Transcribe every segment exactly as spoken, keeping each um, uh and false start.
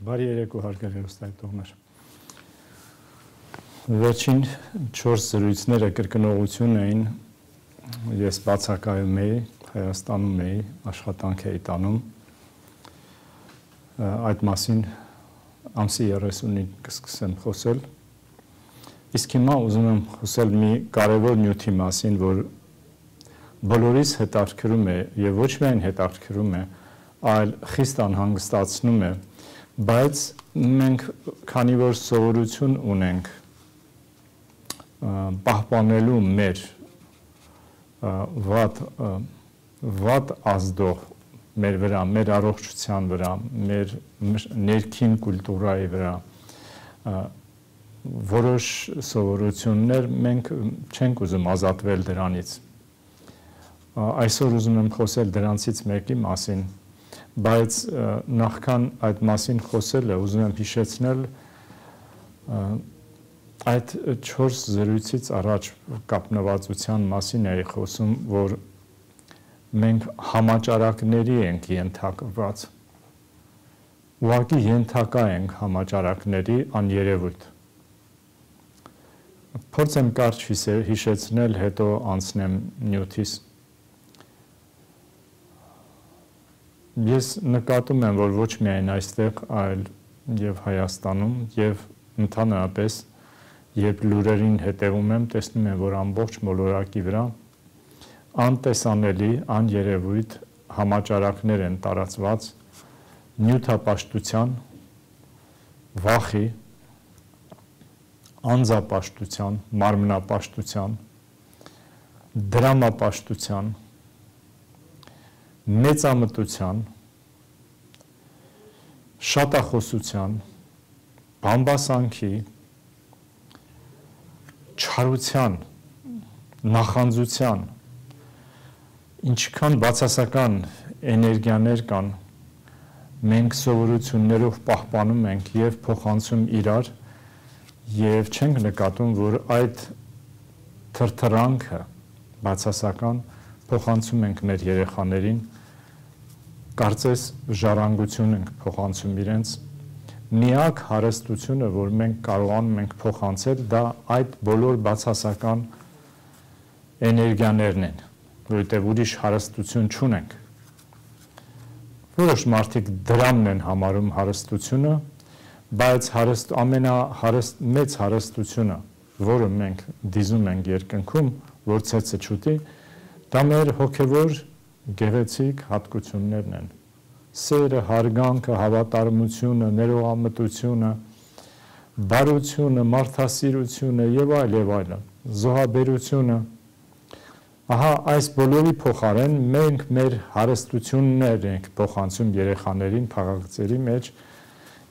Բարի երեկո հարգելի հեռուստադիտողներ։ Վերջին չորս զրույցները կրկնողություն էին, ես բացակայում էի, Հայաստանում էի, աշխատանք էի տանում, այդ մասին ամսի երեսունին կսկսեմ խոսել, իսկ հիմա ուզում եմ խոսել մի կարևոր նյութի մասին, որ բոլորիս հետաքրքրում է եւ ոչ միայն հետաքրքրում է, այլ խիստ անհանգստացնում է, բայց մենք քանի որ սովորություն ունենք պահպանելու մեր վատ վատ ազդող մեր վրա, մեր առողջության վրա, մեր ներքին կուլտուրայի վրա որոշ սովորություններ մենք չենք ուզում ազատվել դրանից։ Այսօր ուզում եմ խոսել դրանցից մեկի մասին, բայց նախքան այդ մասին խոսելը ուզում եմ հիշեցնել այդ չորս զրույցից առաջ կապնվածության մասին էի խոսում, որ մենք համաճարակների ենք ենթարկված, ուղղակի ենթակա ենք համաճարակների աներևույթ։ Փորձեմ կարճ հիշեցնել, հետո անցնեմ նյութից։ Ես նկատում եմ, որ ոչ միայն այստեղ, այլ եւ Հայաստանում եւ ընդհանրապես երբ լուրերին հետևում եմ, տեսնում եմ, որ ամբողջ մոլորակի վրա անտեսանելի, աներևույթ համաճարակներ են տարածված նյութապաշտության, վախի, անձապաշտության, մարմնապաշտության, դրամապաշտության, մեծամտության, շատախոսության, բամբասանքի, չարության, նախանձության, ինչքան բացասական էներգիաներ կան, մենք սովորություններով պահպանում ենք եւ փոխանցում իրար եւ չենք նկատում, որ այդ թրթրանքը բացասական փոխանցում ենք մեր երեխաներին, կարծես ժառանգություն ենք փոխանցում իրենց, միակ հարստությունը, որ մենք կարողանում ենք փոխանցել, դա այդ բոլոր բացասական էներգիաներն են, որովհետև ուրիշ հարստություն չունենք։ Որոշ մարդիկ դրամն են համարում հարստությունը, բայց հարստ, ամենահարստ մեծ հարստությունը, որը մենք դիզում ենք երկնքում, որ ցեցը չուտի, դա մեր հոգևոր գեղեցիկ հատկություններն են։ Սերը, հարգանքը, հավատարմությունը, ներողամտությունը, բարությունը, մարդասիրությունը եւ այլ եւ այլն, զոհաբերությունը։ Ահա այս բոլորի փոխարեն մենք մեր հարստություններ ենք փոխանցում երեխաներին փաղաքծերի մեջ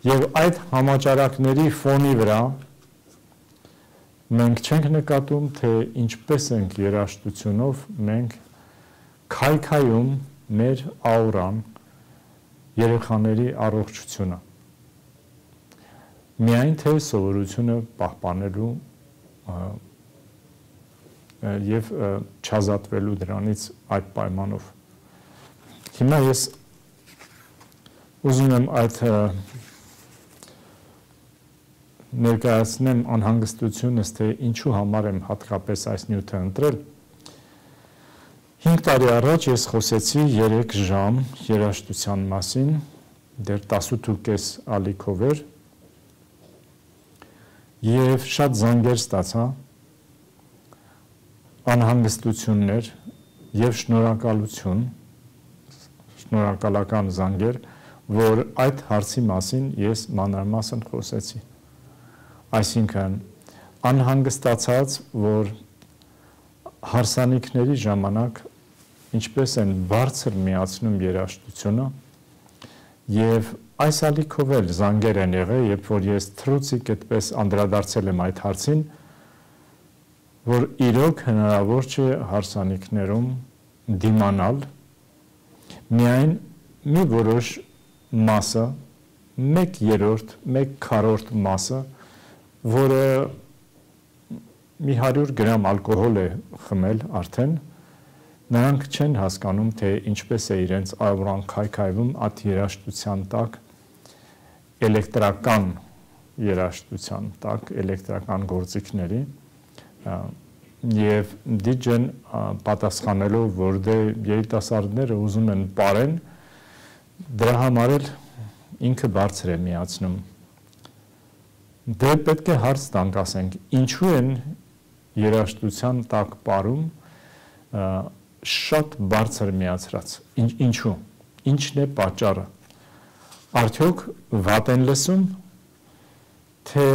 եւ այդ համաճարակների ֆոնի վրա մենք չենք նկատում, թե ինչպես ենք երաժշտությունով մենք քայքայում մեր աուրան երեխաների առողջությունը միայն թե սովորությունը պահպանելու եւ չազատվելու դրանից այդ պայմանով։ Հիմա ես ուզում եմ այդ ներկայացնեմ անհանգստությունս, թե ինչու համար եմ հատկապես այս նյութը ընտրել։ Հինգ տարի առաջ ես խոսեցի երեք ժամ երաժշտության մասին, դեռ տասութ ու կես ալիքով էր եւ շատ զանգեր ստացա, անհանգստություններ եւ շնորհակալություն, շնորհակալական զանգեր, որ այդ հարցի մասին ես մանրամասն խոսեցի։ Այսինքն անհանգստացած, որ հարսանիքների ժամանակ ինչպես են բարձր միացնում երաժշտությունը եւ այս ալիքով էլ զանգեր են եղել, երբ որ ես թրուցիկ այդպես անդրադարձել եմ այդ հարցին, որ իրոք հնարավոր չէ հարսանիքներում դիմանալ միայն մի որոշ մասը, մեկ երրորդ, մեկ քառորդ մասը, որը մի հարյուր գրամ ալկոհոլ է խմել արդեն, նրանք չեն հասկանում, թե ինչպես է իրենց աուրան քայքայվում այդ երաժշտության տակ էլեկտրական երաժշտության տակ, էլեկտրական գործիքների եւ դիջեն պատասխանելով, որ դե երիտասարդները ուզում են ապրեն, դրա համար էլ ինքը բարձր է միացնում։ Դե պետք է հարց տանք, ասենք, ինչու են երաժշտության տակ ապրում շատ բարձր միացրած, ինչու, ինչն է պատճառը, արդյոք վատ են լսում, թե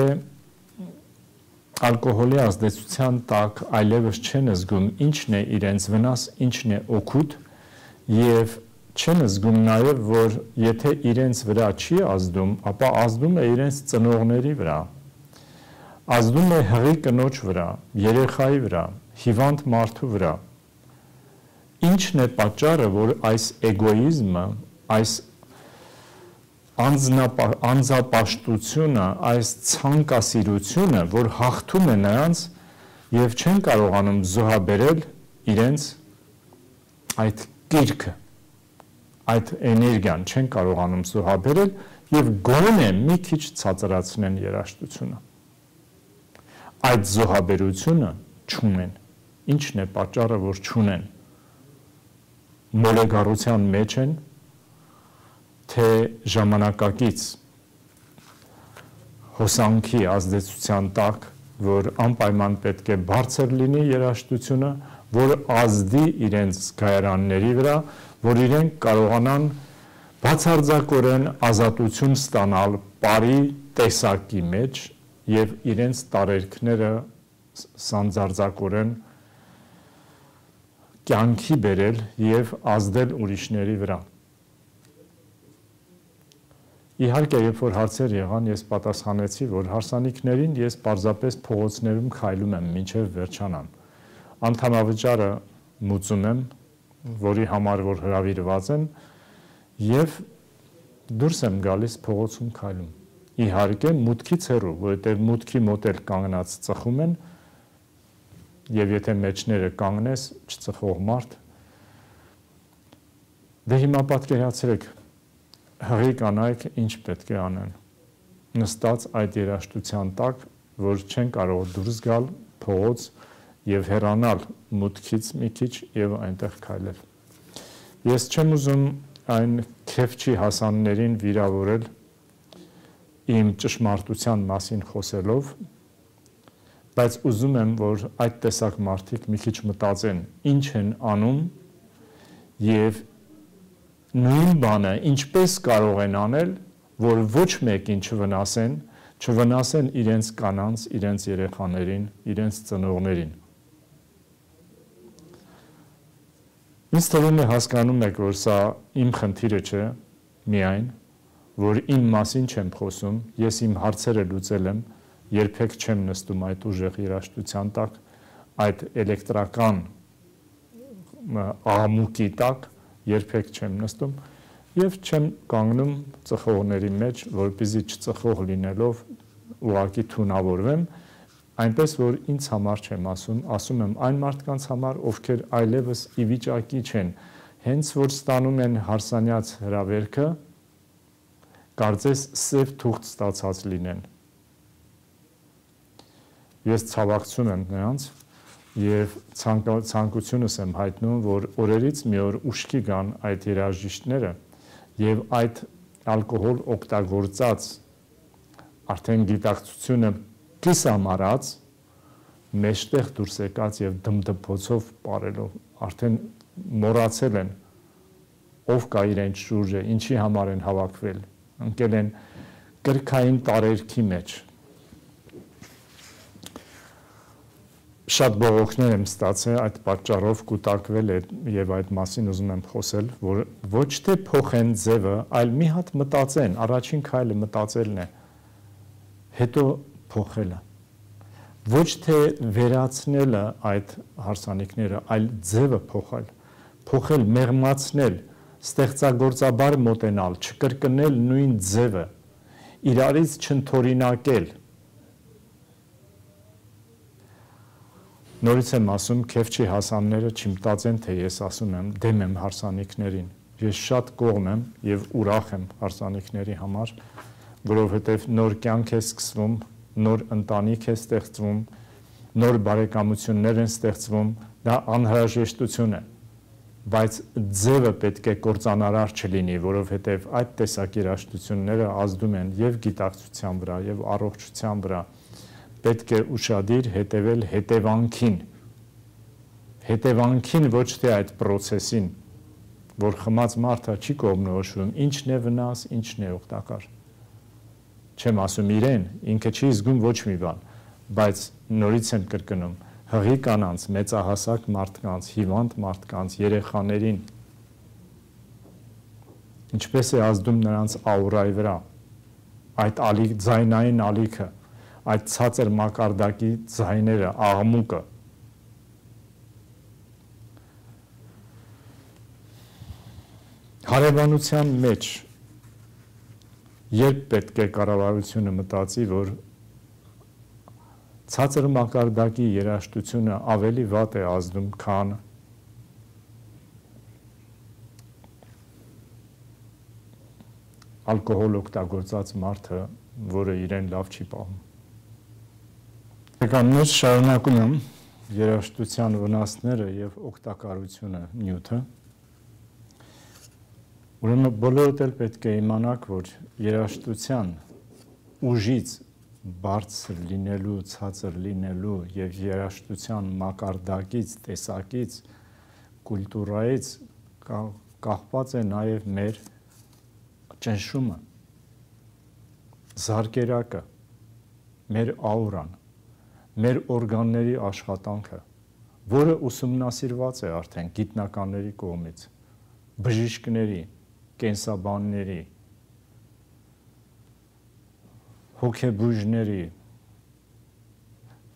ալկոհոլի ազդեցության տակ այլևս չեն զգում ինչն է իրենց վնաս, ինչն է օգուտ եւ չեն զգում նաեւ, որ եթե իրենց վրա չի ազդում, ապա ազդում է իրենց ծնողների վրա, ազդում է հղի կնոջ վրա, երեխայի վրա, հիվանդ մարդու վրա։ Ինչն է պատճառը, որ այս էգոիզմը, այս անձնապաշտությունը, այս ցանկասիրությունը, որ հաղթում է նրանց եւ չեն կարողանում զոհաբերել իրենց այդ կիրքը, այդ էներգիան չեն կարողանում զոհաբերել եւ գոնե մի քիչ ցածրացնեն երաժշտությունը։ Այդ զոհաբերությունը չունեն։ Ինչն է պատճառը, որ չունեն։ Մոլեգարության մեջ են, թե ժամանակակից հոսանքի ազդեցության տակ, որ անպայման պետք է բարձր լինի երաժշտությունը, որ ազդի իրենց զգայարանների վրա, որ իրենք կարողանան բացարձակորեն ազատություն ստանալ բարի տեսակի մեջ եւ իրենց տարերքները սանձարձակորեն կյանքի բերել եւ ազդել ուրիշների վրա։ Իհարկե, երբ որ հարցեր եղան, ես պատասխանեցի, որ հարսանիքներին ես պարզապես փողոցներում քայլում եմ մինչև վերջանան։ Անդամավճարը մուծում եմ, որի համար որ հրավիրված եմ, եւ դուրս եմ գալիս փողոցում քայլում։ Իհարկե, մուտքից հեռու, որովհետև մուտքի մոտ էլ կանգնած ծխում են, եւ եթե մեջները կանգնես, չծխող մարդ։ Դե հիմա պատկերացրեք, հղի կանայք ինչ պետք է անեն, նստած այդ երաժշտության տակ, որ չեն կարող դուրս գալ փողոց եւ հեռանալ մուտքից մի քիչ եւ այնտեղ քայլել։ Ես չեմ ուզում այն քեֆչի հասաններին վիրավորել իմ ճշմարտության մասին խոսելով, բայց ուզում եմ, որ այդ տեսակ մարդիկ մի քիչ մտածեն, ինչ են անում եւ նույն բանը ինչպես կարող են անել, որ ոչ մեկին չվնասեն, չվնասեն իրենց կանանց, իրենց երեխաներին, իրենց ծնողներին։ Ինձ թվում է հասկանում եք, որ սա իմ խնդիրը չէ, միայն, որ իմ մասին չեմ խոսում, ես իմ հարցերը լուծել եմ, երբեք չեմ նստում այդ ուժեղ երաժշտության տակ, այդ էլեկտրական աղմուկի տակ, երբեք չեմ նստում եւ չեմ կանգնում ծխողների մեջ, որպեսզի չծխող լինելով ուղակի թունավորվեմ, այնպես որ ինձ համար չեմ ասում, ասում եմ այն մարդկանց համար, ովքեր այլևս ի վիճակի չեն, հենց որ ստանում են հարսանյաց հրավերքը, կարծես սև թուղթ ստացած լինեն։ Ես ցավակցում եմ նրանց եւ ցանկությունս եմ հայտնում, որ օրերից մի օր ուշքի գան այդ երաժիշտները եւ այդ ալկոհոլ օգտագործած արդեն գիտակցությունը կիսամարած մեջտեղ դուրս եկած եւ դմդմոցով ապարելով արդեն մոռացել են ով կա իրենց շուրջը, ինչի համար են հավաքվել, ընկել են կրկային տարերքի մեջ։ Շատ բողոքներ եմ ստացել այդ պատճառով կուտակվել է եւ այդ մասին ուզում եմ խոսել, որ ոչ թե փոխեն ձևը, այլ մի հատ մտածեն, առաջին քայլը մտածելն է, հետո փոխելը։ Ոչ թե վերացնելը այդ հարսանիքները, այլ ձևը փոխել, փոխել, մեղմացնել, ստեղծագործաբար մոտենալ, չկրկնել նույն ձևը, իրարից չընդօրինակել։ Նորից եմ ասում, քեֆչի հասանները չմտածեն, թե ես ասում եմ, դեմ եմ հարսանիքներին։ Ես շատ կողմ եմ եւ ուրախ եմ հարսանիքների համար, որովհետև նոր կյանք է սկսվում, նոր ընտանիք է ստեղծվում, նոր բարեկամություններ են ստեղծվում, դա անհրաժեշտություն է, բայց ձևը պետք է կործանարար չլինի, որովհետև այդ տեսակ երաժշտությունները ազդում են եւ գիտակցության վրա, եւ առողջության վրա, պետք է ուշադիր հետևել հետևանքին, հետևանքին ոչ թե այդ process-ին, որ խմած մարդը չի կողմնորոշվում, ինչն է վնաս, ինչն է օգտակար։ Չեմ ասում իրեն, ինքը չի զգում ոչ մի բան, բայց նորից եմ կրկնում, հղի կանանց, մեծահասակ մարդկանց, հիվանդ մարդկանց, երեխաներին, ինչպես է ազդում նրանց աուրայի վրա, այդ ալիք, ձայնային ալիքը, այդ ցածր մակարդակի ձայները, աղմուկը, հարևանության մեջ երբ պետք է կառավարությունը մտածի, որ ցածր մակարդակի երաժշտությունը ավելի վատ է ազդում, քան ալկոհոլ օգտագործած մարդը, որը իրեն լավ չի պահում։ Կաններ շարունակում եմ երաժշտության վնասները եւ օգտակարությունը նյութը։ Ուրեմն բոլորդ էլ պետք է իմանաք, որ երաժշտության ուժից բարձր լինելու, ցածր լինելու եւ երաժշտության մակարդակից, տեսակից, կուլտուրայից կախված է նաեւ մեր ճնշումը, զարկերակը, մեր աուրան, մեր օրգանների աշխատանքը, որը ուսումնասիրված է արդեն գիտնականների կողմից, բժիշկների, կենսաբանների, հոգեբույժների,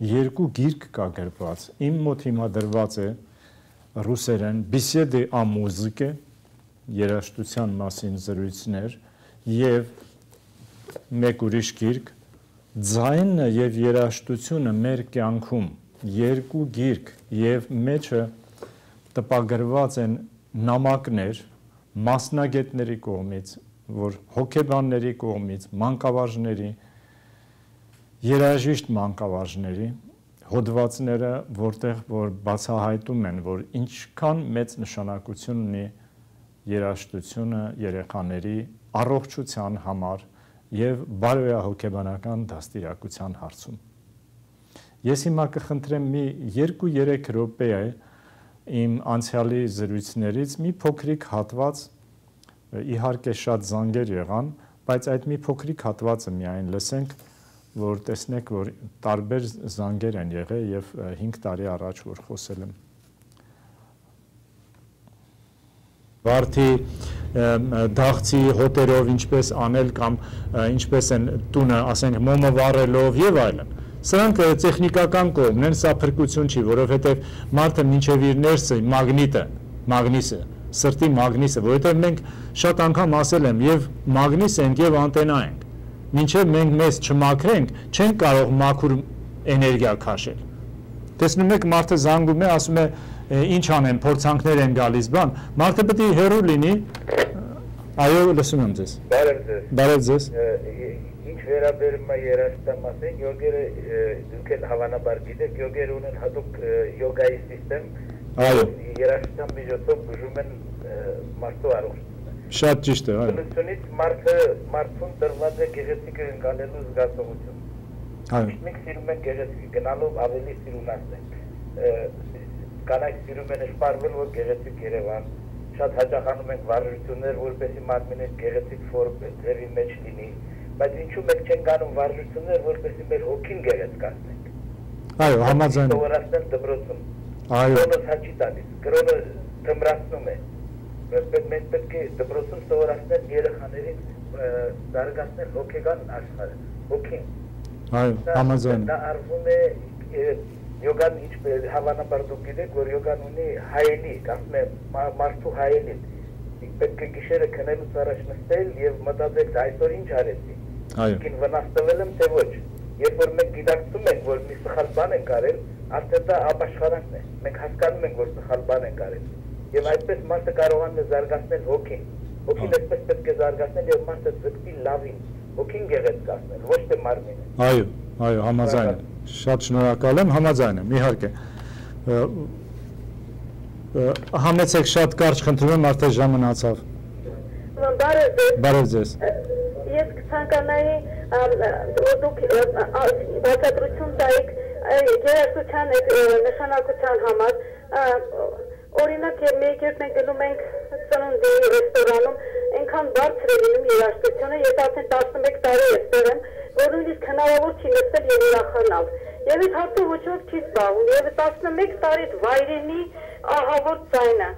երկու գիրք կա գրված, իմ մոտ հիմա դրված է ռուսերեն «Беседы о музыке», երաժշտության մասին զրույցներ, եւ մեկ ուրիշ գիրք «Ձայնը եւ երաժշտությունը մեր կյանքում», երկու գիրք եւ մեջը տպագրված են նամակներ մասնագետների կողմից, որ հոգեբանների կողմից, մանկավարժների, երաժիշտ մանկավարժների հոդվածները, որտեղ որ բացահայտում են, որ ինչքան մեծ նշանակություն ունի երաժշտությունը երեխաների առողջության համար եւ բարոյահոգեբանական դաստիարակության հարցում։ Ես հիմա կխնդրեմ մի երկու-երեք րոպե իմ անցյալի զրույցներից մի փոքրիկ հատված, իհարկե շատ զանգեր եղան, բայց այդ մի փոքրիկ հատվածը միայն լսենք, որ տեսնեք, որ տարբեր զանգեր են եղել եւ հինգ տարի առաջ որ խոսել եմ։ Վարդի դաղցի հոտերով ինչպես անել կամ ինչպես են տունը, ասենք, մոմը վառելով եւ այլն։ Սրանք տեխնիկական կողմն են, սա փրկություն չի, որովհետև մարդը մինչև իր ներսը մագնիտը, մագնիսը, սրտի մագնիսը, որովհետև մենք շատ անգամ ասել եմ, եւ մագնիս ենք եւ անտենա ենք։ Մինչև մենք մեզ չմաքրենք, չենք կարող մաքուր էներգիա քաշել։ Տեսնում եք, մարդը զանգում է, ասում է, ինչ անեմ, փորձանքներ են գալիս, բան, մարդը պետք է հեռու լինի։ Այո, լսում եմ ձեզ։ Բարև ձեզ։ Բարև ձեզ։ Ինչ վերաբերում է երաժշտամասին, յոգերը դուք էլ հավանաբար գիտեք, յոգերը ունեն հատուկ յոգայի սիստեմ, երաժշտության միջոցով բուժում են մարդու առողջությունը։ Շատ ճիշտ է, այո։ Բնությունից մարդը մարդուն տրված է գեղեցիկ ընկալելու զգացողություն։ Այո։ Մենք սիրում ենք գեղեցիկ գնալով ավելի սիրունացնենք։ Կանայք սիրում են շպարվել, որ գեղեցիկ Երևան, շատ հաճախանում ենք վարժություններ, որպեսզի մարմինը գեղեցիկ ձևի մեջ լինի, բայց ինչու մենք չենք անում վարժություններ, որպեսզի մեր հոգին գեղեցկացնենք։ Այո, համաձայն եմ։ Սովորացնել դպրոցում։ Այո։ Կրոնը հաճի տալիս, կրոնը թմրացնում է։ Մենք պետք է դպրոցում սովորացնել երեխաներին զարգացնել հոգեգան աշխարհը, հոգին։ Այո, համաձայն եմ։ Դա արվում է յոգան ինչպես հավանաբար դուք գիտեք, որ յոգան ունի հայելի, ասում եմ, մարդու հայելին։ Պետք է գիշերը քնելուց առաջ նստել եւ մտածել այսօր ինչ արեցի։ Այո։ Ինչ վնասվել եմ, թե ոչ։ Երբ որ մենք գիտակցում ենք, որ մի սխալ բան ենք արել, արդեն դա ապաշխարանքն է։ Մենք հասկանում ենք, որ սխալ բան ենք արել։ Եվ այդպես մարդը կարողանում է զարգացնել հոգին։ Հոգին այսպես պետք է զարգացնել եւ մարդը ձգտի լավին, հոգին գեղեցկացնել, ոչ թե մարմինը։ Այո, այո, համաձայն եմ։ Շատ շնորհակալ եմ, համաձայն եմ, իհարկե։ Համեցեք շատ կարճ խնդրում եմ, արդեն ժամը մնացավ։ Բարև ձեզ։ Բարև ձեզ։ Ես կցանկանայի դուք բացատրություն տայիք երաժշտության նշանակության համար։ Օրինակ մեկ երբ մենք գնում ենք ծնունդի ռեստորանում, այնքան բարձր է լինում երաժշտությունը, ես արդեն տասնմեկ տարի այստեղ եմ, որ նույնիսկ հնարավոր չի լսել եւ ուրախանալ։ Եվ այդ հարցը ոչ ոք չի զբաղվում, եւ տասնմեկ տարի վայրենի ահավոր ձայնը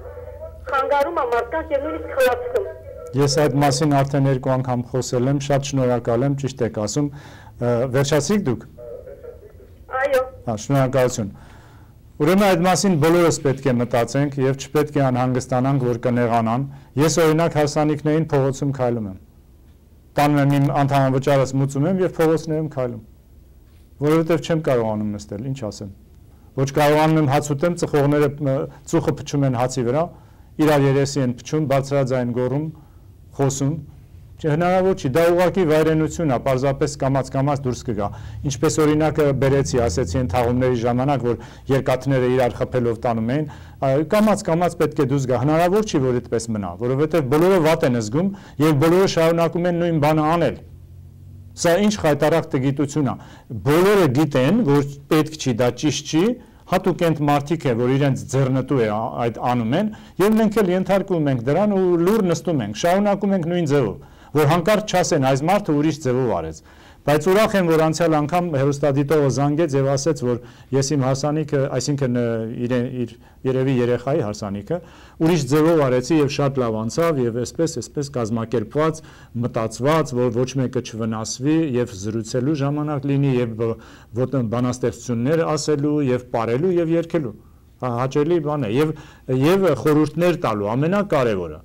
խանգարում է մարդկանց եւ նույնիսկ խլացնում։ Ես այդ մասին արդեն երկու անգամ խոսել եմ, շատ շնորհակալ եմ, ճիշտ եք ասում։ Վերջացիք դուք։ Այո։ Հա, շնորհակալություն։ Ուրեմն այդ մասին բոլորս պետք է մտածենք եւ չպետք է անհանգստանանք, որ կնեղանան։ Ես օրինակ հարսանիքներին փողոցում քայլում եմ։ Տանում եմ իմ անդամավճարս մուծում եմ եւ փողոցներում քայլում։ Որովհետեւ չեմ կարողանում նստել, ինչ ասեմ։ Ոչ կարողանում եմ հաց ուտեմ, ծխողները ծուխը փչում են հացի վրա, իրար երեսի են փչում, բարձրաձայն գոռում, խոսում։ Հնարավոր չի, դա ուղղակի վայրենություն է, պարզապես կամաց-կամաց դուրս կգա։ Ինչպես օրինակը բերեցի, ասեցի այն թաղումների ժամանակ, որ երկաթները իրար խփելով տանում էին, կամաց-կամաց պետք է դուրս գա։ Հնարավոր չի, որ այդպես մնա, որովհետև բոլորը վատ են զգում եւ բոլորը շարունակում են նույն բանը անել։ Սա ինչ խայտարակ տգիտություն է։ Բոլորը գիտեն, որ պետք չի, դա ճիշտ չի, հատուկ են մարդիկ է, որ իրենց ձեռնտու է այդ անում են, եւ մենք էլ ենթարկվում ենք դրան ու լուր նստում ենք, շարունակում ենք նույն ձևով, որ հանկարծ չասեն այս մարդը ուրիշ ձևով արեց։ Բայց ուրախ եմ, որ անցյալ անգամ հեռուստադիտողը զանգեց եւ ասեց, որ ես իմ հարսանիքը, այսինքն իր իր երևի երեխայի հարսանիքը, ուրիշ ձևով արեցի եւ շատ լավ անցավ եւ այսպես այսպես կազմակերպված, մտածված, որ ոչ մեկը չվնասվի եւ զրուցելու ժամանակ լինի եւ բանաստեղծություններ ասելու եւ ապարելու եւ երգելու։ Հաճելի բան է եւ եւ խորհուրդներ տալու ամենակարևորը։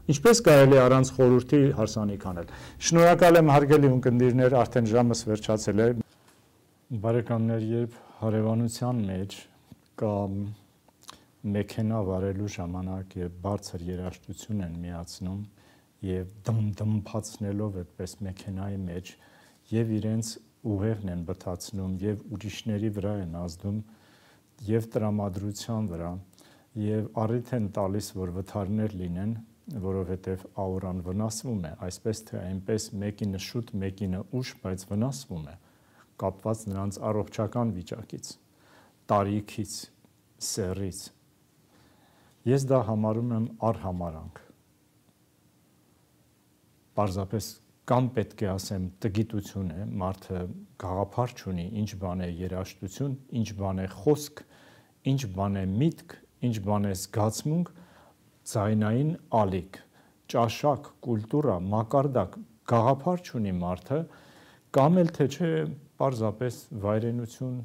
Ինչպես կարելի է առանց խորհրդի հարսանիք անել։ Շնորհակալ եմ հարգելի ունկնդիրներ, արդեն ժամս վերջացել է։ Բարեկամներ, երբ հարևանության մեջ կա մեքենա վարելու ժամանակ եւ բարձր երաժշտություն են միացնում եւ դմ-դմփացնելով այդպես մեքենայի մեջ եւ իրենց ուղեղն են բթացնում եւ ուրիշների վրա են ազդում եւ տրամադրության վրա եւ առիթ են տալիս, որ վթարներ լինեն, որովհետև աուրան վնասվում է, այսպես թե այնպես մեկինը շուտ, մեկինը ուշ, բայց վնասվում է, կապված նրանց առողջական վիճակից, տարիքից, սեռից։ Ես դա համարում եմ արհամարանք։ Պարզապես կամ պետք է ասեմ տգիտություն է, մարդը գաղափար չունի, ինչ բան է երաժշտություն, ինչ բան է խոսք, ինչ բան է միտք, ինչ բան է զգացմունք, ձայնային ալիք, ճաշակ, կուլտուրա, մակարդակ, գաղափար չունի մարդը, կամ էլ թե չէ պարզապես վայրենություն,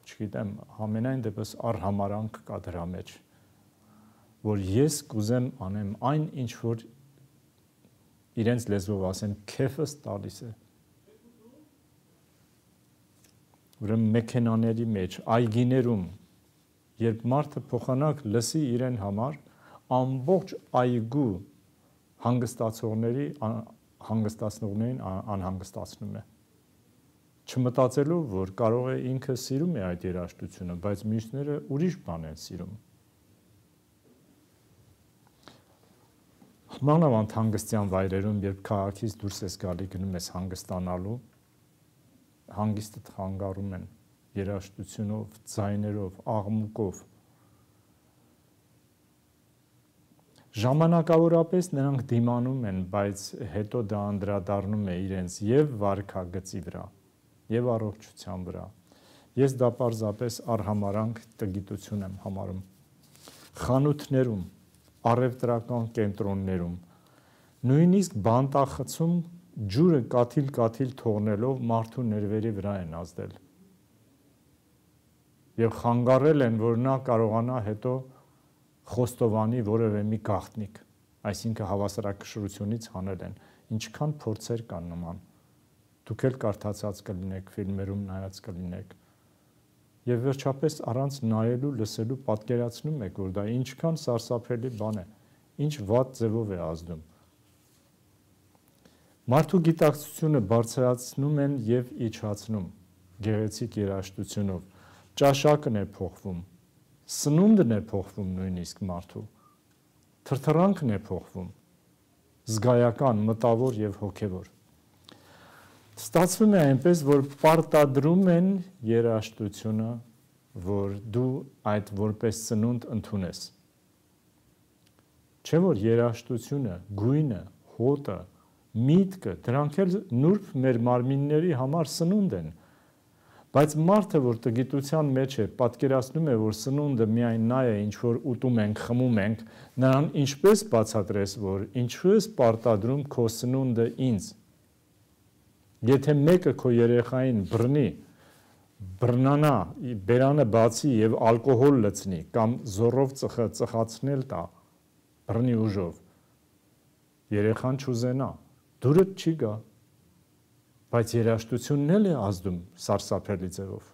չգիտեմ, համենայն դեպս արհամարանք կա դրա մեջ, որ ես կուզեմ անեմ այն, ինչ որ իրենց լեզվով ասեմ, քեֆս տալիս է։ Ուրեմն մեքենաների մեջ, այգիներում, երբ մարդը փոխանակ լսի իրեն համար, ամբողջ այգու հանգստացողների հանգստացնողներին անհանգստացնում է։ Չմտածելու, որ կարող է ինքը սիրում է այդ երաժշտությունը, բայց մյուսները ուրիշ բան են սիրում։ Մանավանդ հանգստյան վայրերում, երբ քաղաքից դուրս ես գալի գնում ես հանգստանալու, հանգիստը խանգարում են երաժշտությունով, ձայներով, աղմուկով։ Ժամանակավորապես նրանք դիմանում են, բայց հետո դա անդրադառնում է իրենց եւ վարքագծի վրա, եւ առողջության վրա։ Ես դա պարզապես արհամարանք տգիտություն եմ համարում։ Խանութներում, առևտրական կենտրոններում, նույնիսկ բանտախցում ջուրը կաթիլ-կաթիլ թողնելով մարդու ներվերի վրա են ազդել։ Եվ խանգարել են, որ նա կարողանա հետո խոստովանի որևէ մի գաղտնիք, այսինքն հավասարակշռությունից հանել են, ինչքան փորձեր կան նման, դուք էլ կարդացած կլինեք, ֆիլմերում նայած կլինեք, եւ վերջապես առանց նայելու, լսելու պատկերացնում եք, որ դա ինչքան սարսափելի բան է, ինչ վատ ձևով է ազդում։ Մարդու գիտակցությունը բարձրացնում են եւ իջացնում գեղեցիկ երաժշտությունով, ճաշակն է փոխվում, սնունդն է փոխվում նույնիսկ մարդու, թրթռանքն է փոխվում, զգայական, մտավոր եւ հոգեվոր։ Ստացվում է այնպես, որ պարտադրում են երաժշտությունը, որ դու այդ որպես սնունդ ընդունես։ Չէ՞ որ երաժշտությունը, գույնը, հոտը, միտքը, դրանք էլ նուրբ մեր մարմինների համար սնունդ են, բայց մարդը, որ տգիտության մեջ է, պատկերացնում է, որ սնունդը միայն նա է, ինչ որ ուտում ենք, խմում ենք, նրան ինչպես բացատրես, որ ինչու ես պարտադրում քո սնունդը ինձ։ Եթե մեկը քո երեխային բռնի, բռնանա, բերանը բացի եւ ալկոհոլ լցնի կամ զորով ծխը ծխացնել տա, բռնի ուժով, երեխան չուզենա, դուրդ չի գա, բայց երաժշտությունն էլ է ազդում սարսափելի ձևով։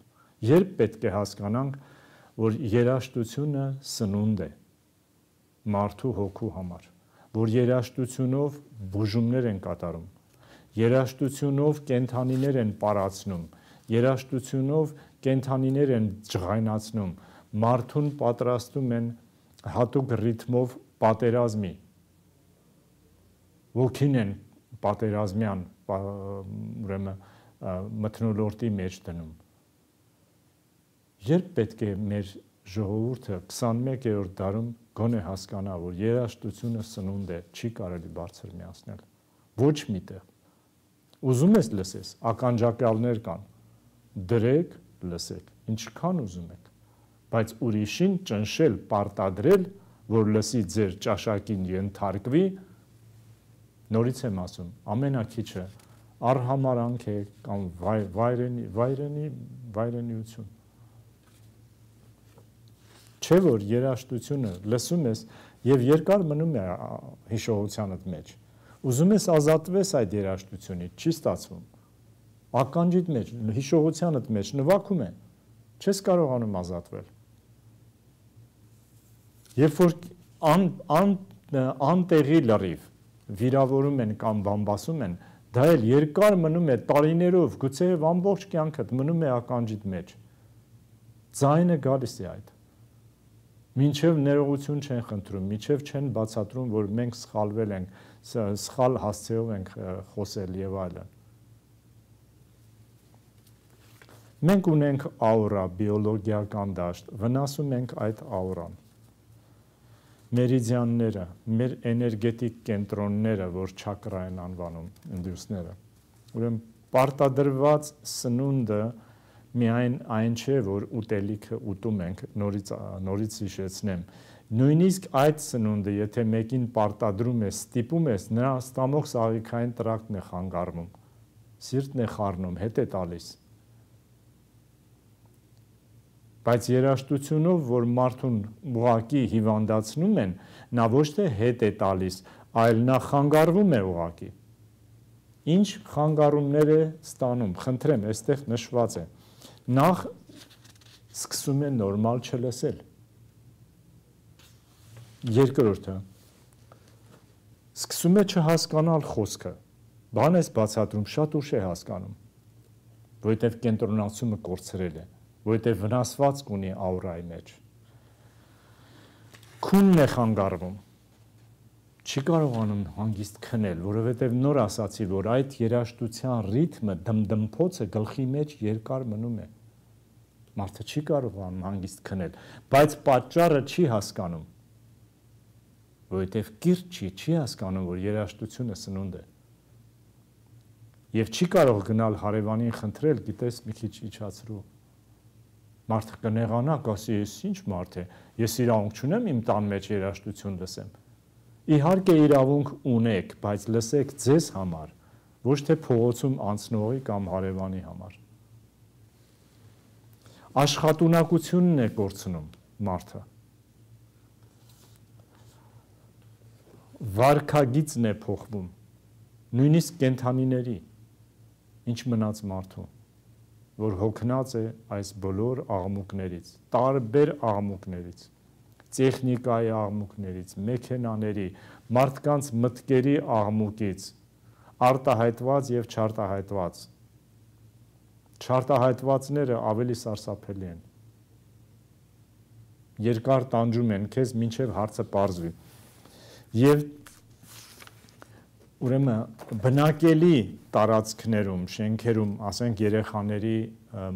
Երբ պետք է հասկանանք, որ երաժշտությունը սնունդ է մարդու հոգու համար, որ երաժշտությունով բուժումներ են կատարում, երաժշտությունով կենդանիներ են պարացնում, երաժշտությունով կենդանիներ են ջղայնացնում, մարդուն պատրաստում են հատուկ ռիթմով պատերազմի, ոգին են պատերազմյան ուրեմն մթնոլորտի մեջ դնում։ Երբ պետք է մեր ժողովուրդը քսանմեկերորդ դարում գոնե հասկանա, որ երաժշտությունը սնունդ է, չի կարելի բարձր միացնել։ Ոչ միտեղ։ Ուզում ես լսես, ականջակալներ կան, դրեք, լսեք, ինչքան ուզում եք, բայց ուրիշին ճնշել, պարտադրել, որ լսի ձեր ճաշակին ենթարկվի, նորից եմ ասում, ամենակիչը արհամարանք է կամ վայրենի, վայրենի, վայրենիություն։ Չէ որ երաժշտությունը լսում ես եւ երկար մնում է հիշողությանդ մեջ։ Ուզում ես ազատվես այդ երաժշտությունից, չի ստացվում։ Ականջիդ մեջ, հիշողությանդ մեջ նվագում է, չես կարողանում ազատվել։ Երբ որ ան, ան, անտեղի լրիվ վիրավորում են կամ բամբասում են, դա էլ երկար մնում է տարիներով, գուցե ամբողջ կյանքդ մնում է ականջիդ մեջ։ Ձայնը գալիս է այդ։ Մինչև ներողություն չեն խնդրում, մինչև չեն բացատրում, որ մենք սխալվել ենք, սխալ հասցեով ենք խոսել եւ այլն։ Մենք ունենք աուրա, բիոլոգիական դաշտ, վնասում ենք այդ աուրան։ Մերիդիանները, մեր էներգետիկ կենտրոնները, որ չակրա են անվանում ինդուսները։ Ուրեմն պարտադրված սնունդը միայն այն չէ, որ ուտելիքը ուտում ենք, նորից նորից հիշեցնեմ։ Նույնիսկ այդ սնունդը, եթե մեկին պարտադրում ես, ստիպում ես, նրա ստամոք սաղիքային տրակտն է խանգարվում, սիրտն է խառնում, հետ է տալիս։ Բայց երաժշտությունով, որ մարդուն ուղակի հիվանդացնում են, նա ոչ թե հետ է տալիս, այլ նա խանգարվում է ուղակի։ Ինչ խանգարումներ է ստանում, խնդրեմ, այստեղ նշված է։ Նախ սկսում է նորմալ չլսել։ Երկրորդը սկսում է չհասկանալ խոսքը։ Բան ես բացատրում, շատ ուշ է հասկանում, որովհետև կենտրոնացումը կորցրել է, որովհետև վնասվածք ունի աուրայի մեջ։ Քունն է խանգարվում։ Չի կարողանում հանգիստ քնել, որովհետև նոր ասացի, որ այդ երաժշտության ռիթմը, դմդմփոցը գլխի մեջ երկար մնում է։ Մարդը չի կարողանում հանգիստ քնել, բայց պատճառը չի հասկանում, որովհետև կիրճ չի, չի հասկանում, որ երաժշտությունը սնունդ է։ Եվ չի կարող գնալ հարևանին խնդրել, գիտես, մի քիչ իջացրու։ Մարդը կնեղանա, կասի, ես ինչ մարդ է, ես իրավունք չունեմ իմ տան մեջ երաժշտություն լսեմ։ Իհարկե իրավունք ունեք, բայց լսեք ձեզ համար, ոչ թե փողոցում անցնողի կամ հարևանի համար։ Աշխատունակությունն է կորցնում մարդը։ Վարքագիծն է փոխվում, նույնիսկ կենդանիների, ինչ մնաց մարդու, որ հոգնած է այս բոլոր աղմուկներից, տարբեր աղմուկներից, տեխնիկայի աղմուկներից, մեքենաների, մարդկանց մտքերի աղմուկից, արտահայտված եւ չարտահայտված։ Չարտահայտվածները ավելի սարսափելի են։ Երկար տանջում են քեզ մինչև հարցը պարզվի։ Եվ ուրեմն բնակելի տարածքներում, շենքերում, ասենք երեխաների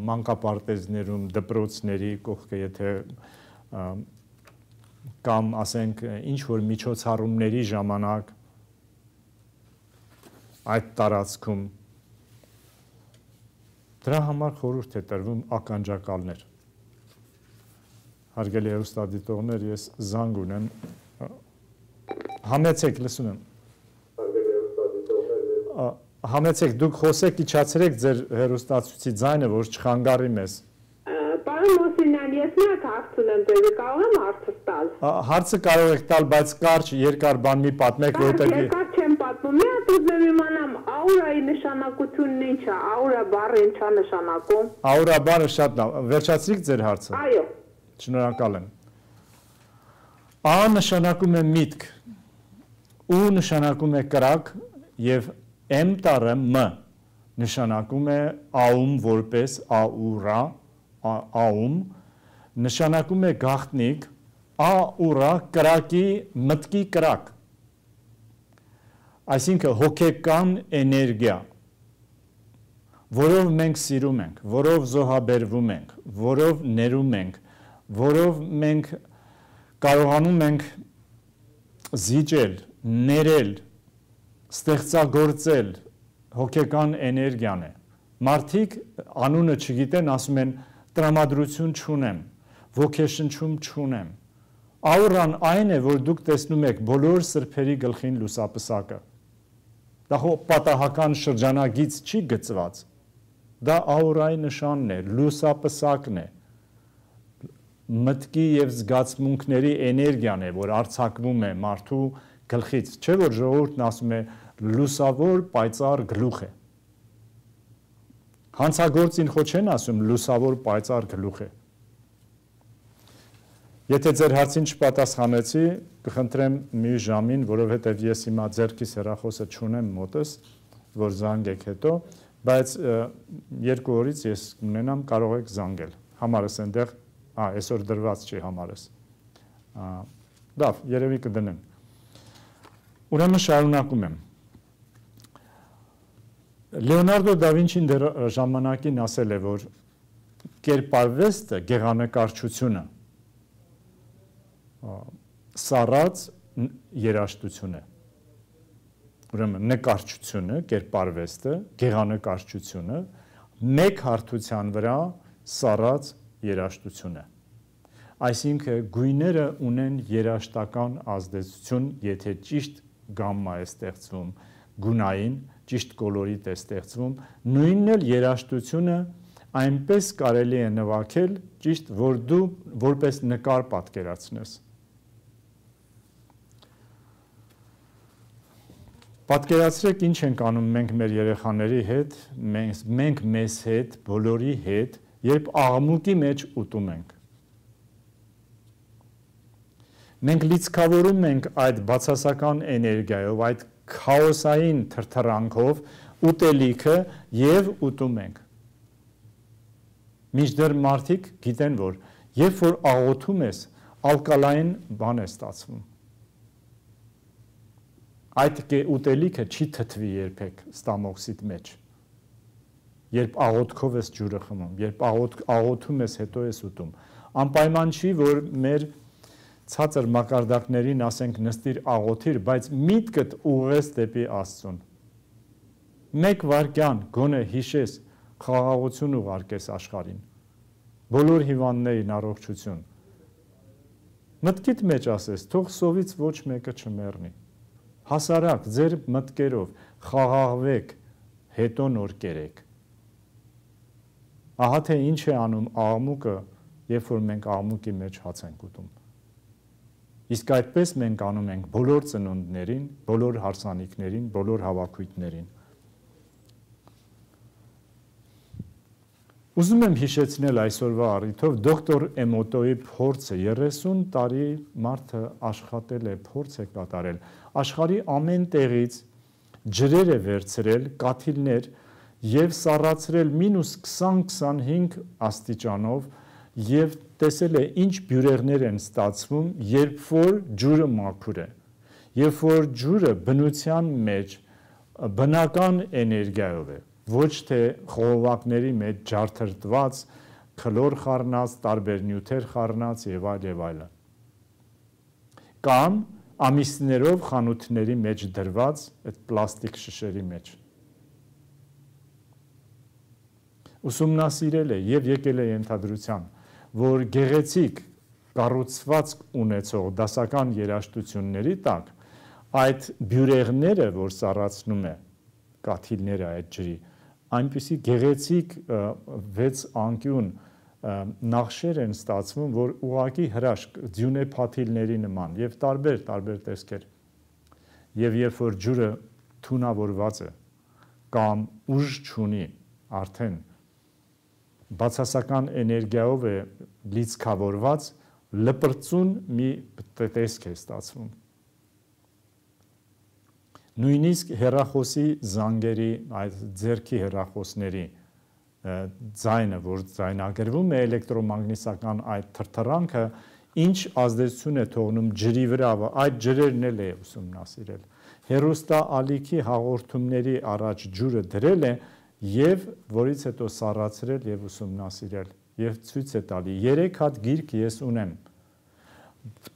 մանկապարտեզներում, դպրոցների կողքը, եթե կամ ասենք ինչ որ միջոցառումների ժամանակ այդ տարածքում դրա համար խորհուրդ է տրվում ականջակալներ։ Հարգելի հեռուստադիտողներ, ես զանգ ունեմ։ Համեցեք, լսում եմ։ Համեցեք, դուք խոսեք, իջացրեք ձեր հեռուստացույցի ձայնը, որ չխանգարի մեզ։ Պարոն Մոսինյան, ես միակ հարց ունեմ ձեզ, կարող եմ հարցս տալ։ Հարցը կարող եք տալ, բայց կարճ, երկար բան մի պատմեք, որտեղ երկար չեմ պատմում։ Մի հատ ուզում իմանամ, աուրայի նշանակությունն ինչ է, աուրա բառը ինչ է նշանակում։ Աուրա բառը շատ լավ, վերջացրիք ձեր հարցը։ Այո։ Շնորհակալ եմ։ Ա նշանակում է միտք, ու նշանակում է կրակ եւ M տառը M նշանակում է աում որպես աուրա, աում նշանակում է գաղտնիք, աուրա կրակի մտքի կրակ։ Այսինքն հոգեկան էներգիա, որով մենք սիրում ենք, որով զոհաբերվում ենք, որով ներում ենք, որով մենք կարողանում ենք զիջել, ներել, ստեղծագործել, հոգեկան էներգիան է։ Մարդիկ անունը չգիտեն, ասում են տրամադրություն չունեմ, ոգեշնչում չունեմ։ Աուրան այն է, որ դուք տեսնում եք բոլոր սրբերի գլխին լուսապսակը։ Դա պատահական շրջանագից չի գծված։ Դա աուրայի նշանն է, լուսապսակն է։ Մտքի եւ զգացմունքների էներգիան է, որ արձակվում է մարդու գլխից, չէ՞ որ ժողովուրդն ասում է լուսավոր պայծառ գլուխ է։ Հանցագործին խո չեն ասում լուսավոր պայծառ գլուխ է։ Եթե ձեր հարցին չպատասխանեցի, կխնդրեմ մի ժամին, որովհետև ես հիմա ձեռքիս հեռախոսը չունեմ մոտս, որ զանգեք հետո, բայց երկու օրից ես ունենամ, կարող եք զանգել։ Համարս այնտեղ, ա, այսօր դրված չի համարս։ Լավ, երևի կդնեմ։ Ուրեմն շարունակում եմ։ Լեոնարդո դա Վինչին դեռ ժամանակին ասել է, որ կերպարվեստը, գեղանկարչությունը սառած երաժշտություն է։ Ուրեմն նկարչությունը, կերպարվեստը, գեղանկարչությունը մեկ հարթության վրա սառած երաժշտություն է։ Այսինքն գույները ունեն երաժշտական ազդեցություն, եթե ճիշտ գամմա է ստեղծվում, գունային, ճիշտ կոլորիտ է ստեղծվում, նույնն էլ երաժշտությունը այնպես կարելի է նվագել, ճիշտ, որ դու որպես նկար պատկերացնես։ Պատկերացրեք ինչ ենք անում մենք մեր երեխաների հետ, մենք, մենք մեզ հետ, բոլորի հետ, երբ աղմուկի մեջ ուտում ենք։ Մենք լիցքավորում ենք այդ բացասական էներգիայով, այդ քաոսային թրթրանքով ուտելիքը եւ ուտում ենք։ Մինչդեռ մարդիկ գիտեն, որ երբ որ աղոթում ես, ալկալային բան է ստացվում։ Այդ ուտելիքը չի թթվի երբեք ստամոքսիդ մեջ։ Երբ աղոթքով ես ջուրը խմում, երբ աղոթում ես, հետո ես ուտում։ Անպայման չի, որ մեր ցածր մակարդակներին ասենք նստիր աղոթիր, բայց միտքդ ուղղես դեպի Աստծուն։ Մեկ վայրկյան գոնե հիշես, խաղաղություն ուղարկես աշխարհին։ Բոլոր հիվանդներին առողջություն։ Մտքիդ մեջ ասես, թող սովից ոչ մեկը չմեռնի։ Հասարակ ձեր մտքերով խաղաղվեք, հետո նոր կերեք։ Ահա թե ինչ է անում աղմուկը, երբ որ մենք աղմուկի մեջ հաց ենք ուտում։ Իսկ այդպես մենք անում ենք բոլոր ծնունդներին, բոլոր հարսանիքներին, բոլոր հավաքույթներին։ Ուզում եմ հիշեցնել այսօրվա առիթով դոկտոր Էմոտոյի փորձը, երեսուն տարի մարդը աշխատել է, փորձ է կատարել, աշխարհի ամեն տեղից ջրեր է վերցրել, կաթիլներ եւ սառացրել մինուս քսան քսանհինգ աստիճանով եւ տեսել է ինչ բյուրեղներ են ստացվում, երբ որ ջուրը մաքուր է։ Երբ որ ջուրը բնության մեջ բնական էներգիայով է, ոչ թե խողովակների մեջ ջարդրտված, քլոր խառնած, տարբեր նյութեր խառնած եւ այլ եւ այլն։ Կամ ամիսներով խանութների մեջ դրված այդ պլաստիկ շշերի մեջ։ Ուսումնասիրել է եւ եկել է ենթադրության, որ գեղեցիկ կառուցվածք ունեցող դասական երաժշտությունների տակ այդ բյուրեղները, որ սառացնում է կաթիլները այդ ջրի, այնպիսի գեղեցիկ վեց անկյուն նախշեր են ստացվում, որ ուղղակի հրաշք ձյունեփաթիլների նման եւ տարբեր տարբեր տեսքեր։ Եվ երբ որ ջուրը թունավորված է կամ ուժ չունի, արդեն բացասական էներգիայով է լիցքավորված, լպրծուն մի տեսք է ստացվում։ Նույնիսկ հեռախոսի զանգերի, այդ ձեռքի հեռախոսների ձայնը, որ ձայնագրվում է էլեկտրոմագնիսական այդ թրթռանքը, ինչ ազդեցություն է թողնում ջրի վրա, այդ ջրերն էլ է ուսումնասիրել։ Հեռուստաալիքի հաղորդումների առաջ ջուրը դրել է եւ որից հետո սառացրել եւ ուսումնասիրել եւ ցույց է տալի։ Երեք հատ գիրք ես ունեմ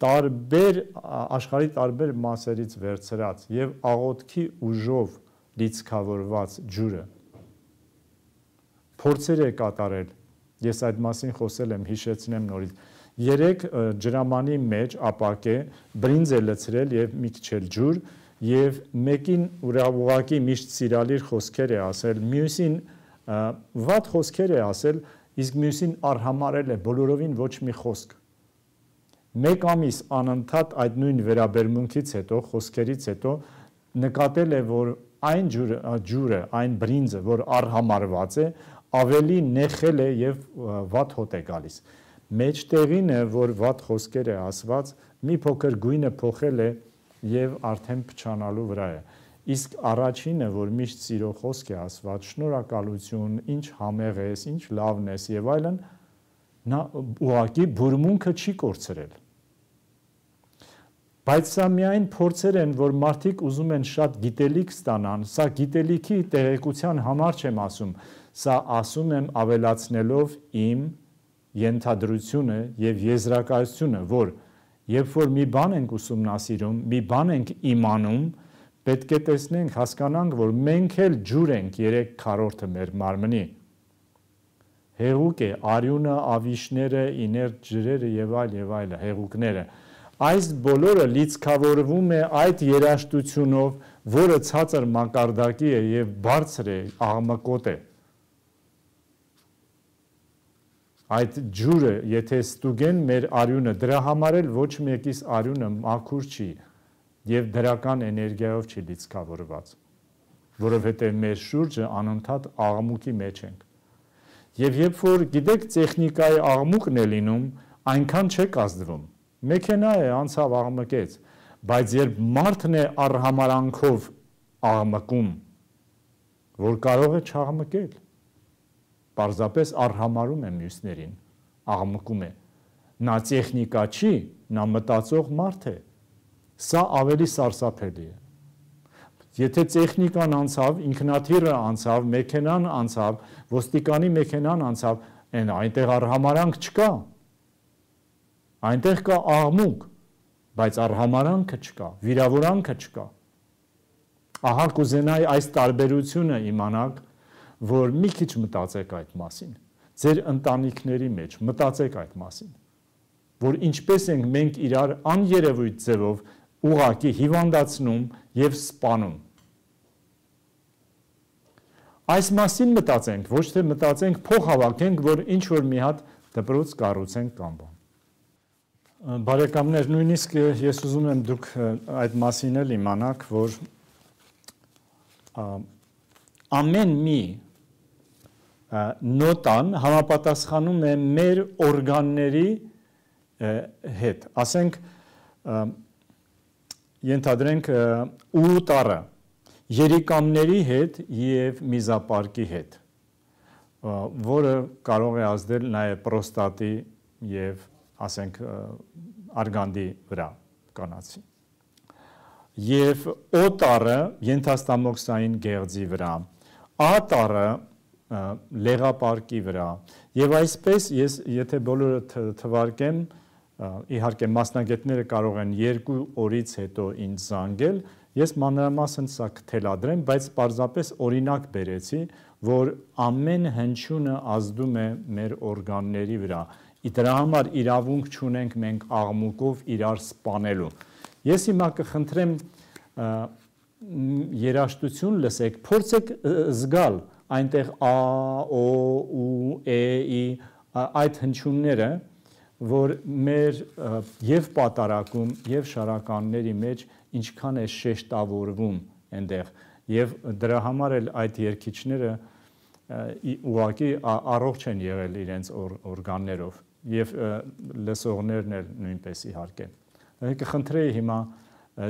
տարբեր աշխարհի տարբեր մասերից վերցրած եւ աղոթքի ուժով լիցքավորված ջուրը փորձեր է կատարել, ես այդ մասին խոսել եմ, հիշեցնեմ նորից, երեք ջրամանի մեջ ապակե բրինձ է լցրել եւ մի քիչ էլ ջուր եւ մեկին ուղղակի միշտ սիրալիր խոսքեր է ասել, մյուսին վատ խոսքեր է ասել, իսկ մյուսին արհամարել է բոլորովին ոչ մի խոսք։ Մեկ ամիս անընդհատ այդ նույն վերաբերմունքից հետո, խոսքերից հետո նկատել է, որ այն ջուրը, ջուրը, այն բրինձը, որ արհամարված է, ավելի նեխել է եւ վատ հոտ է գալիս։ Մեջտեղին է, որ վատ խոսքեր է ասված, մի փոքր գույնը փոխել է եւ արդեն փչանալու վրա է։ Իսկ առաջինը, որ միշտ սիրո խոսք է ասված, շնորհակալություն, ինչ համեղ ես, ինչ լավն ես եւ այլն, նա ուղղակի բուրմունքը չի կորցրել։ Բայց սա միայն փորձեր են, որ մարդիկ ուզում են շատ գիտելիք ստանան, սա գիտելիքի տեղեկության համար չեմ ասում, սա ասում եմ ավելացնելով իմ ենթադրությունը եւ եզրակացությունը, որ երբ որ մի բան ենք ուսումնասիրում, մի բան ենք իմանում, պետք է տեսնենք, հասկանանք, որ մենք էլ ջուր ենք երեք քառորդը մեր մարմնի։ Հեղուկ է, արյունը, ավիշները, իներտ ջրերը եւ այլ եւ այլ հեղուկները։ Այս բոլորը լիցքավորվում է այդ երաժշտությունով, որը ցածր մակարդակի է եւ բարձր է, աղմկոտ է։ Այդ ջուրը, եթե ստուգեն մեր արյունը, դրա համար էլ ոչ մեկիս արյունը մաքուր չի եւ դրական էներգիայով չի լիցքավորված, որովհետեւ մեր շուրջը անընդհատ աղմուկի մեջ ենք։ Եվ երբ որ գիտեք տեխնիկայի աղմուկն է լինում, այնքան չեք ազդվում։ Մեքենա է անցավ աղմկեց, բայց երբ մարդն է արհամարանքով աղմկում, որ կարող է չաղմկել, պարզապես արհամարում է մյուսներին, աղմկում է։ Նա տեխնիկա չի, նա մտածող մարդ է։ Սա ավելի սարսափելի է։ Եթե տեխնիկան անցավ, ինքնաթիռը անցավ, մեքենան անցավ, ոստիկանի մեքենան անցավ, այն այնտեղ արհամարանք չկա։ Այնտեղ կա աղմուկ, բայց արհամարանքը չկա, վիրավորանքը չկա։ Ահա կուզենայի այս տարբերությունը իմանաք, որ մի քիչ մտածեք այդ մասին, ձեր ընտանիքների մեջ մտածեք այդ մասին, որ ինչպես ենք մենք իրար աներևույթ ձևով ուղղակի հիվանդացնում եւ սպանում։ Այս մասին մտածենք, ոչ թե մտածենք փող հավաքենք, որ ինչ որ մի հատ դպրոց կառուցենք կամ բան։ Բարեկամներ, նույնիսկ ես ուզում եմ դուք այդ մասին էլ իմանաք, որ ամեն մի նոտան համապատասխանում է մեր օրգանների հետ։ Ասենք, ենթադրենք ուտարը, երիկամների հետ և միզապարկի հետ, որը կարող է ազդել նաև պրոստատի և ասենք արգանդի վրա կանացի։ Եվ O տառը ենթաստամոքսային գեղձի վրա, A տառը լեղապարկի վրա, և այսպես ես եթե բոլորը թվարկեմ, իհարկե մասնագետները կարող են երկու օրից հետո ինձ զանգել, ես մանրամասն սա կթելադրեմ, բայց պարզապես օրինակ բերեցի, որ ամեն հնչյունը ազդում է մեր օրգանների վրա, դրա համար իրավունք չունենք մենք աղմուկով իրար սպանելու։ Ես հիմա կխնդրեմ երաժշտություն լսեք, փորձեք զգալ այնտեղ A, O, U, E, I այդ հնչյունները, որ մեր և պատարակում և շարականների մեջ ինչքան է շեշտավորվում այնտեղ, և դրա համար էլ այդ երգիչները ուղղակի առողջ են եղել իրենց օրգաններով և լսողներն էլ նույնպես իհարկե։ Կխնդրեի հիմա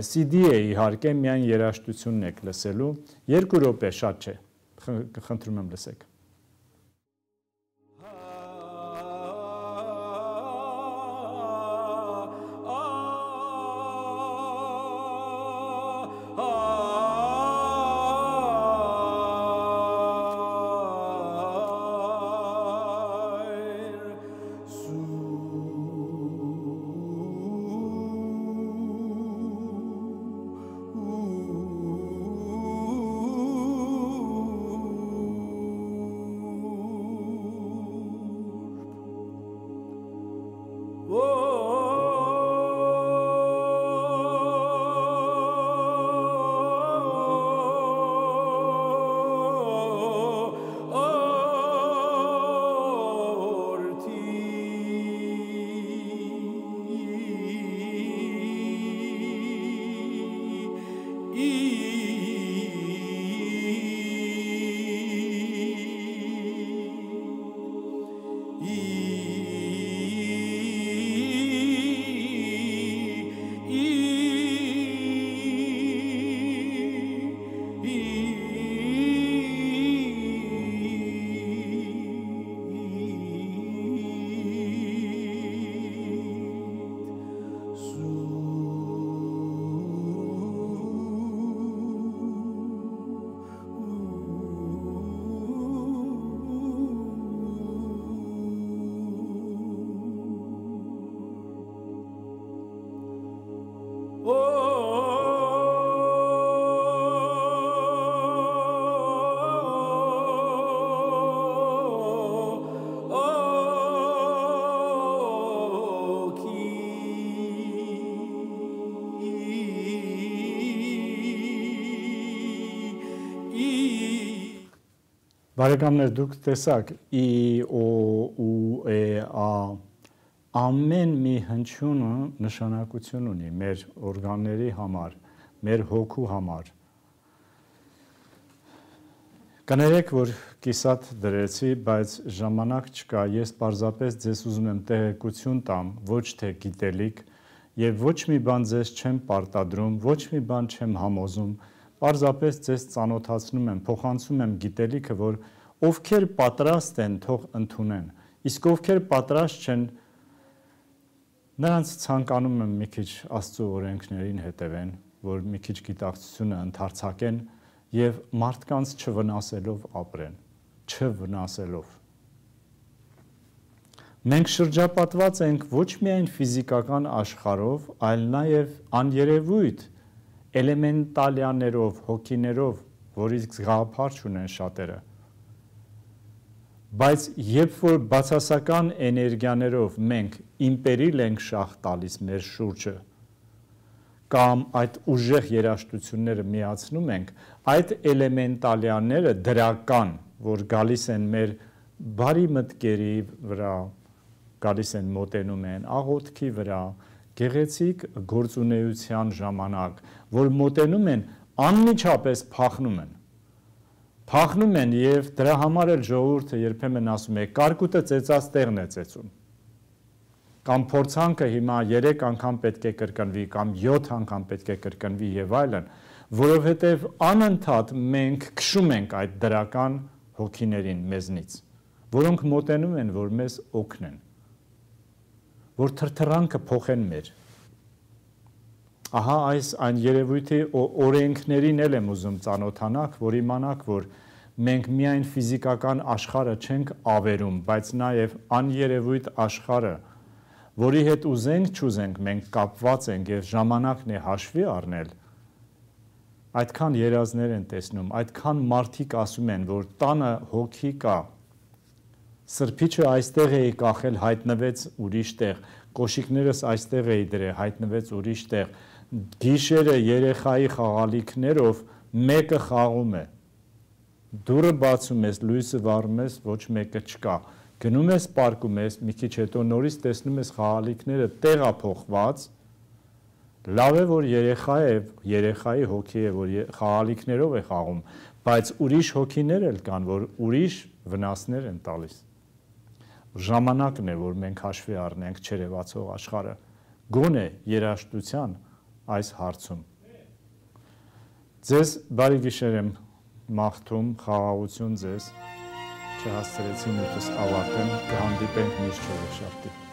C D է իհարկե, միայն երաժշտությունն եք լսելու, երկու րոպե, շատ չէ, կխնդրում եմ լսեք։ Բարեկամներ, դուք տեսաք I, O, U, E, A, ամեն մի հնչյունը նշանակություն ունի մեր օրգանների համար, մեր հոգու համար։ Կներեք, որ կիսատ դրեցի, բայց ժամանակ չկա, ես պարզապես ձեզ ուզում եմ տեղեկություն տամ, ոչ թե գիտելիք, և ոչ մի բան ձեզ չեմ պարտադրում, ոչ մի բան չեմ համոզում, պարզապես ձեզ ծանոթացնում եմ, փոխանցում եմ գիտելիքը, որ ովքեր պատրաստ են, թող ընդունեն, իսկ ովքեր պատրաստ չեն, նրանց ցանկանում եմ մի քիչ Աստծո օրենքներին հետևեն, որ մի քիչ գիտակցությունը ընդարձակեն և մարդկանց չվնասելով ապրեն, չվնասելով։ Մենք շրջապատված ենք ոչ միայն ֆիզիկական աշխարհով, այլ նաև աներևույթ էլեմենտալյաներով, հոգիներով, որից գաղափար չունեն շատերը, բայց երբ որ բացասական էներգիաներով մենք իմպերիլ ենք շահ տալիս մեր շուրջը, կամ այդ ուժեղ երաժշտությունները միացնում ենք, այդ էլեմենտալյանները դրական, որ գալիս են մեր բարի մտքերի վրա, գալիս են մոտենում են աղոթքի վրա, գեղեցիկ գործունեության ժամանակ, որ մոտենում են, անմիջապես փախնում են։ Փախնում են և դրա համար էլ ժողովուրդը երբեմն ասում է, կարկուտը ծեծած տեղն է ծեծում։ Կամ փորձանքը հիմա երեք անգամ պետք է կրկնվի, կամ յոթ անգամ պետք է կրկնվի և այլն, որովհետև անընդհատ մենք քշում ենք այդ դրական հոգիներին մեզնից, որոնք մոտենում են, որ մեզ օգնեն, որ թրթռանքը փոխեն մեր։ Ահա այս այն երևույթի օրենքներին էլ եմ ուզում ծանոթանաք, որ իմանաք, որ մենք միայն ֆիզիկական աշխարհը չենք ավերում, բայց նաև աներևույթ աշխարհը, որի հետ ուզենք չուզենք մենք կապված ենք եւ ժամանակն է հաշվի առնել, այդքան երազներ են տեսնում, այդքան մարդիկ ասում են, որ տանը հոգի կա, սրբիչը այստեղ էի կախել, հայտնվեց ուրիշ տեղ, կոշիկներս այստեղ էի դրել, հայտնվեց ուրիշ տեղ, գիշերը երեխայի խաղալիքներով մեկը խաղում է, դուրը բացում ես, լույսը վառում ես, ոչ մեկը չկա, գնում ես պարկում ես, մի քիչ հետո նորից տեսնում ես խաղալիքները տեղափոխված, լավ է, որ երեխա է, երեխայի հոգի է, որ խաղալիքներով է խաղում, բայց ուրիշ հոգիներ էլ կան, որ ուրիշ վնասներ են տալիս։ Ժամանակն է, որ մենք հաշվի առնենք չերևացող աշխարհը, գոնե երաժշտության այս հարցում։ Ձեզ բարի գիշեր եմ մաղթում, խաղաղություն ձեզ, չհասցրեցի նույնպես ավարտեմ, կհանդիպենք միշտ չորեքշաբթի։